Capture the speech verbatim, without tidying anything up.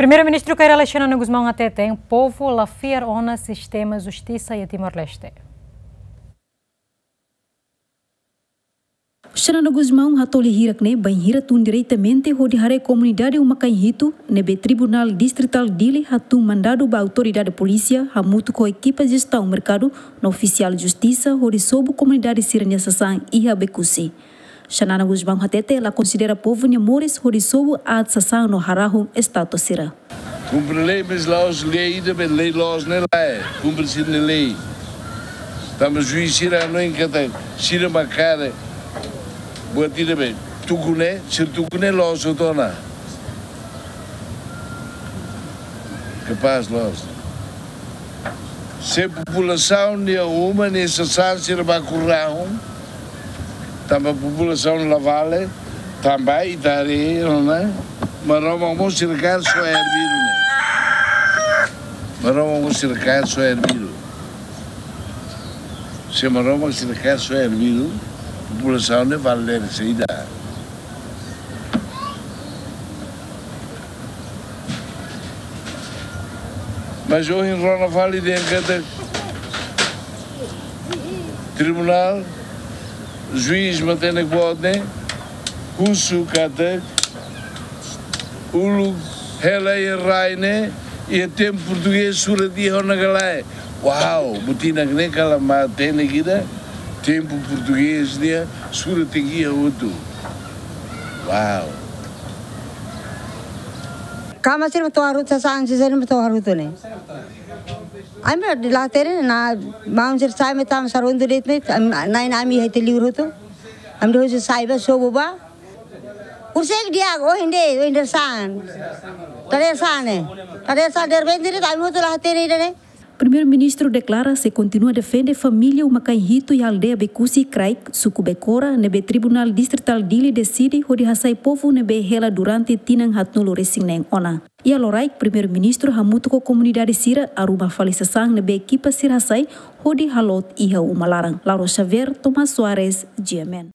Primeiru-Ministru Kay Rala Xanana Gusmão hateten, povu la fiar ona sistema justisa iha Timor-Leste. Xanana Gusmão hatoli hirak ne'e bainhira tun diretamente hodi haree komunidade uma-kain hitu ne'ebé Tribunál Distritál Dili hatun mandadu ba autoridade polísia hamutuk ho ekipa jestaun merkadu no ofisiál justisa hodi sobu komunidade sira-nia sasán iha Oekusi. Xanana Gusmão hatete la konsidera povu nia moris hodi sobu aat sasán no harahun estátua sira. Kumpre lei, mas la'ós lei ida be lei loos ne'e lae. Kumpre sira-nia lei. Tanba juís sira hanoin katak sira mak karik buat ida be tuku ne'e, sira tuku ne'e loos hotu ona. Kapás loos. Se populasaun nia uma nia sasán sira baku rahun, tanba populasaun la vale, tanba ita haree ona, Maromak mós sira kaer soe ervidu ne'e. Maromak mós sira kaer soe ervidu. Se Maromak sira kaer soe ervidu, populasaun ne'e vale saida. Mas ohin rona fali dehan katak tribunál, juís matenek boot ne'e husu katak uluk hela iha rai ne'e iha tempu portugés surat iha ona ka lae. Uau, buat ida ne'e kala matenek ida, tempu portugés nia surat tenke iha hotu. Uau. Kama sira mak to'o harutu, sasán sira mak to'o harutu ne'e. Ami la hatene, na maun sira sai mai tama sarondu de'it ne'e, ami, na'in ami iha ita liur hotu. Ami dehan sira sai ba, sobu ba. Horiseik di'ak, ohin de'it, ohin de'it sasán. Tade sasán ne'e. Tade sasán, derrepente de'it ami hotu la hatene ida ne'e. Primeiru-Ministru deklara sei kontinua defende família uma-kain hitu iha aldeia Oekusi, Kraik, suku Becora, ne'ebé Tribunál Distritál Dili deside hodi hasai povu ne'ebé hela durante tinan haatnulu resin neen ona. Iha loraik, Primeiru-Ministru hamutuk ho komunidade sira arruma fali sasán ne'ebé ekipa sira hasai hodi haloot iha uma laran. Laura Xavier, Tomás Soares, G M N.